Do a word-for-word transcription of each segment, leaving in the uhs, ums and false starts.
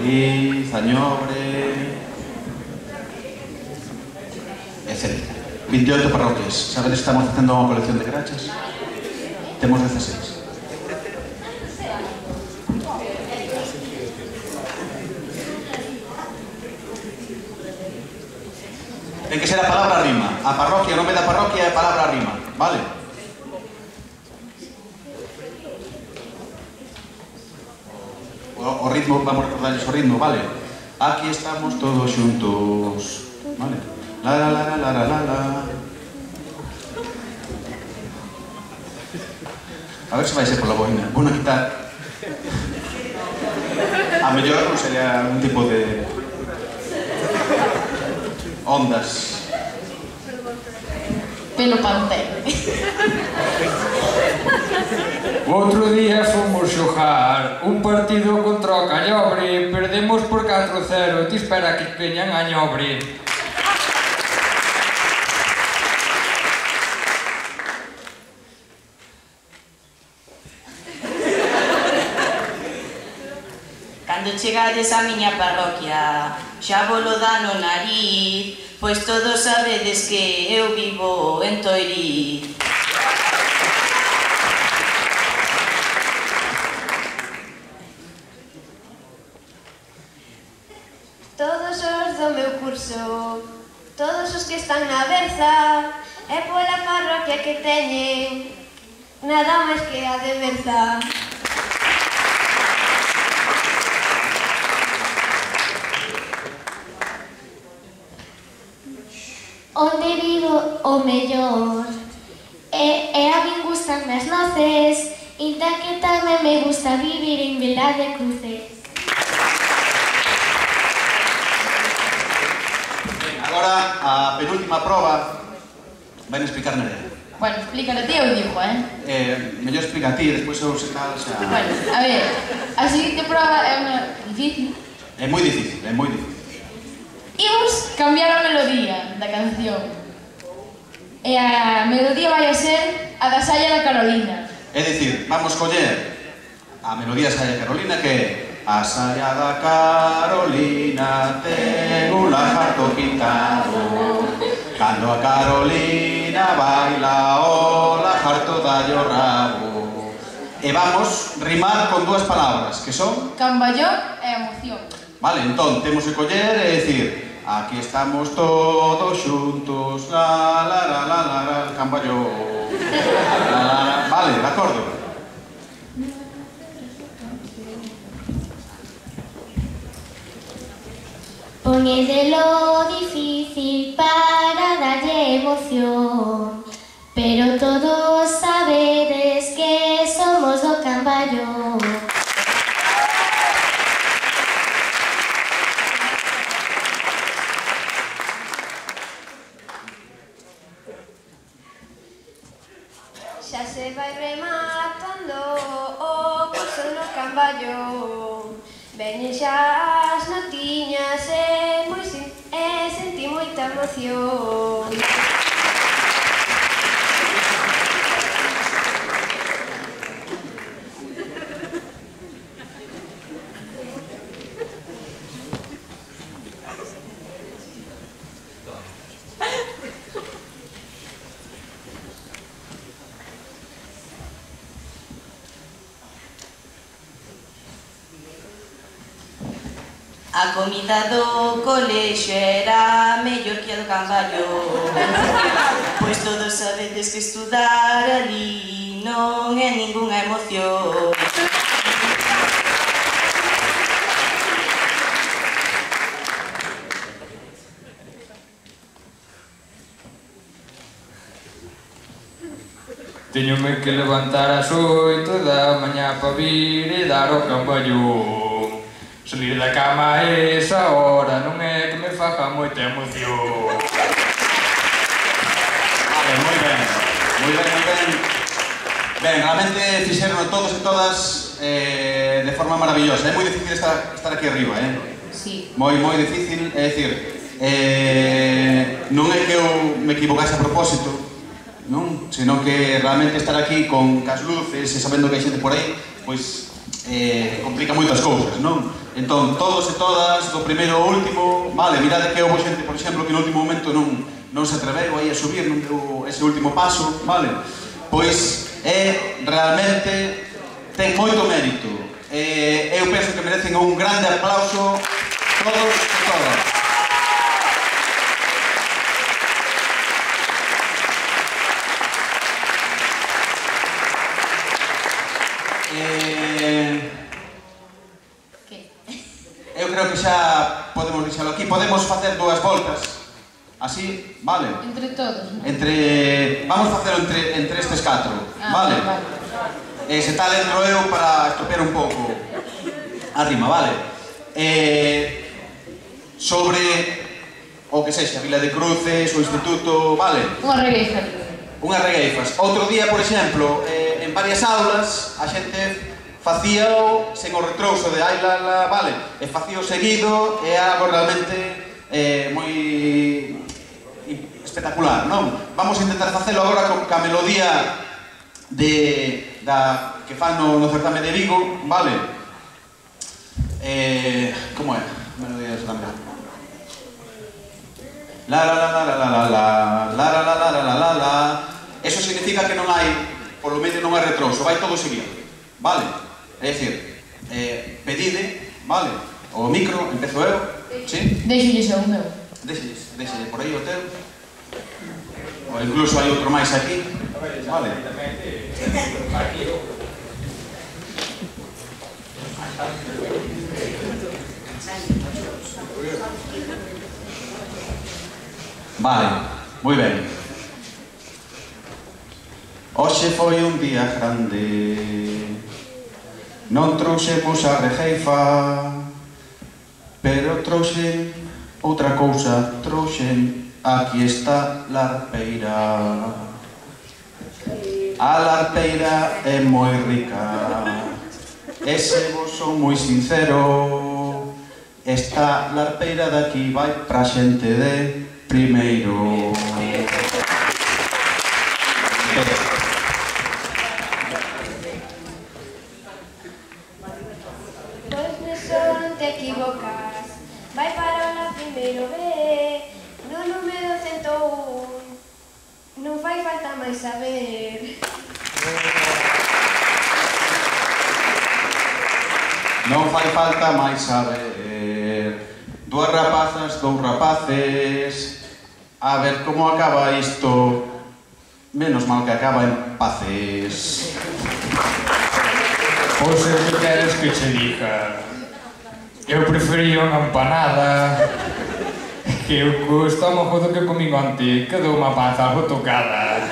Feliz, Añobre, etcétera. veintiocho parroquias. Sabedes que estamos facendo unha colección de crachas? Temos dieciséis. Ten que ser a palabra rima. A parroquia, o nome da parroquia é a palabra rima, vale? O, o ritmo, vamos a recordarles o ritmo, vale? Aquí estamos todos xuntos, vale? La la la la la la la. A ver se vai ser pola boina. Vou na quitar. A mellor non sería un tipo de ondas. Pelo pantén. Outro día fomos xogar un partido contra o Callobre, perdemos por catro cero, ti espera que veñan a Ñobre. Cando chegades á miña parroquia, xa volo dá no nariz, pois todos sabedes que eu vivo en Toiriz. Todos os do meu curso, todos os que están na Berza, e pola parroquia que teñen, nada máis que a de Berza. Onde vivo o mellor e, e a min gustan as noces, inta que tamén me gusta vivir en Vilar de Cruces. Agora, a penúltima proba vai explicar Nerea. Bueno, explícalo ti, eu digo, eh? Eh, mellor explica a ti, despois eu se tal xa... Bueno, a ver, a seguinte proba é unha difícil. É moi difícil, é moi difícil. Imos cambiar a melodía da canción. E a melodía vai a ser a da Saia da Carolina. É dicir, vamos coller a melodía Saia Carolina que é a Saia da Carolina ten un lagarto pintado. Cando a Carolina baila o lagarto dalle o rabo. E vamos rimar con dúas palabras, que son... Camballón e emoción. Vale, entón, temos que coller e dicir aquí estamos todos xuntos, la la la la la la, camballón. Vale, de acordo. Poñedelo difícil para darlle emoción, pero todos sabedes que somos do Camballón. Xa se vai rematando o curso no Camballón. Veñen xa as notiñas e, moi, e senti moita emoción. A comida do colexio era mellor que a do Camballón. Pois todos sabedes que estudar ali non é ningunha emoción. Teñome que levantar ás oito da mañá pa vir e dar o Camballón. Salir da cama a esa hora non é que me faga moita emoción. Vale, moi ben, moi ben, moi ben. Ben, realmente fixeron todos e todas eh, de forma maravillosa. É moi difícil estar, estar aquí arriba, eh? Sí. Moi, moi difícil, é dicir, eh, non é que eu me equivocase a propósito, non? Senón que realmente estar aquí con cas luces e sabendo que hai xente por aí, pois eh, complica moitas cousas, non? Entón, todos e todas, do primeiro ao último, vale, mirade que houve xente, por exemplo, que no último momento non, non se atreveu aí a subir, non deu ese último paso, vale? Pois é realmente, ten moito mérito. Eh, eu penso que merecen un grande aplauso todos e todas. Eh, eu creo que xa podemos deixalo aquí. Podemos facer dúas voltas. Así, vale? Entre todos, non? Entre... Vamos facelo entre, entre estes catro, Ah, vale? vale. E se tal entro eu para estropear un pouco a rima, vale? Eh, sobre o que sexa, Vila de Cruces, o Instituto, vale? Unha regueifa. Unhas regueifas. Outro día, por exemplo, eh, en varias aulas, a xente facíao sen o retrouso de ai la la, vale? E facíao seguido, é algo realmente eh, moi espectacular, non? Vamos a intentar facelo agora con a melodía de, da, que fan no, no certame de Vigo, vale? Eh, como é? Melodía de certame. La la la la la la la la la la la la la la. Eso significa que non hai, polo medio non hai retrouso, vai todo seguido, vale? É dicir, eh, pedide, vale? O micro, empezo eu, sí? Deixolles o meu. Deixelles, deixelle por aí o teu. Ou incluso hai outro máis aquí, vale? Vale, moi ben. Hoxe foi un día grande, non trouxemos a regueifa, pero trouxen outra cousa, trouxen, aquí está larpeira. A larpeira é moi rica, e se vos son moi sincero, esta larpeira daqui vai pra xente de primeiro. Pois neso non te equivocas, vai para o primeiro B, no número cento un, non fai falta máis saber. Non fai falta máis saber. Dúas rapazas, dous rapaces. A ver como acaba isto. Menos mal que acaba en paces. Pois é que queres que che diga. Eu prefería unha empanada, que o co estómago do que comín onte quedou unha panza algo tocada.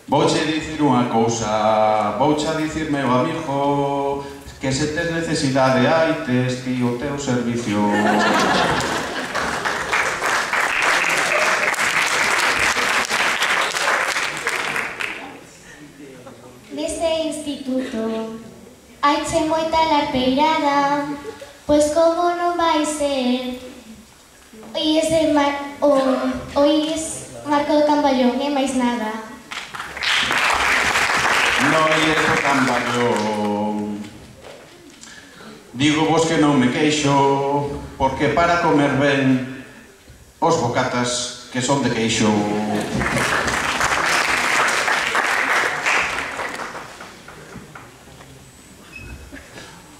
Vouche dicir unha cousa, vouche a dicir, meu amigo, que se tes necesidade hai tes ti o teu servicio. Neste instituto haiche moita larpeirada, pois como non vai ser? Oís de mar... o... oís Marco do Camballón e máis nada. Non ies o Camballón. Digo vos que non me queixo, porque para comer ben os bocatas que son de queixo.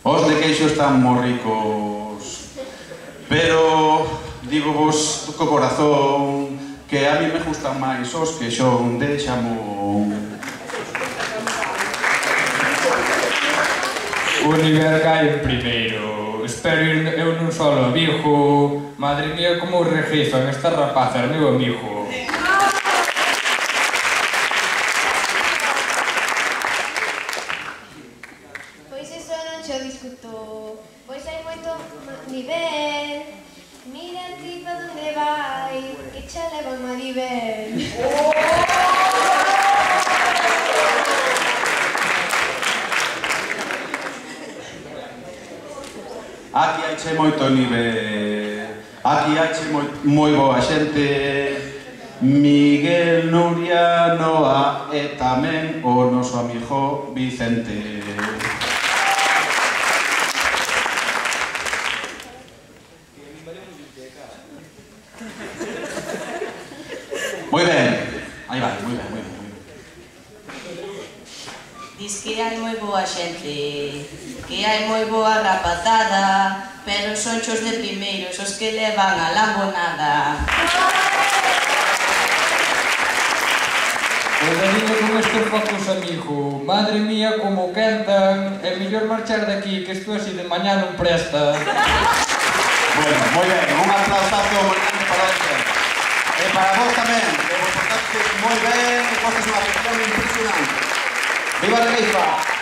Os de queixo están moi ricos, pero digo vos co corazón que a mí me gustan máis os que son de xamón. O nivel cae en primeiro. Espero ir eu nun solo a Vigo. Madre mía, como regueifan estas rapazas, meu amigo. Pois iso non xo discuto, pois hai moito nivel. Mira ti pa donde vai, que xa leva un nivel. Aquí haiche moito nivel, aquí haiche moi, moi boa xente, Miguel, Nuria, Noa e tamén o noso amigo Vicente. Moi ben, aí vai, moi ben, moi ben. Diz que hai moi boa xente, que hai moi boa rapazada, pero son xos de primeiros os que levan a lambonada. Pois adiño con estes focos, amigo. Madre mía, como quentan. É mellor marchar daqui, que isto así de mañá non presta. Bueno, moi ben, un aplausazo moi grande para eles. E para vos tamén, que vos portastes moi ben e fostes unha afición impresionante. Viva a Regueifa!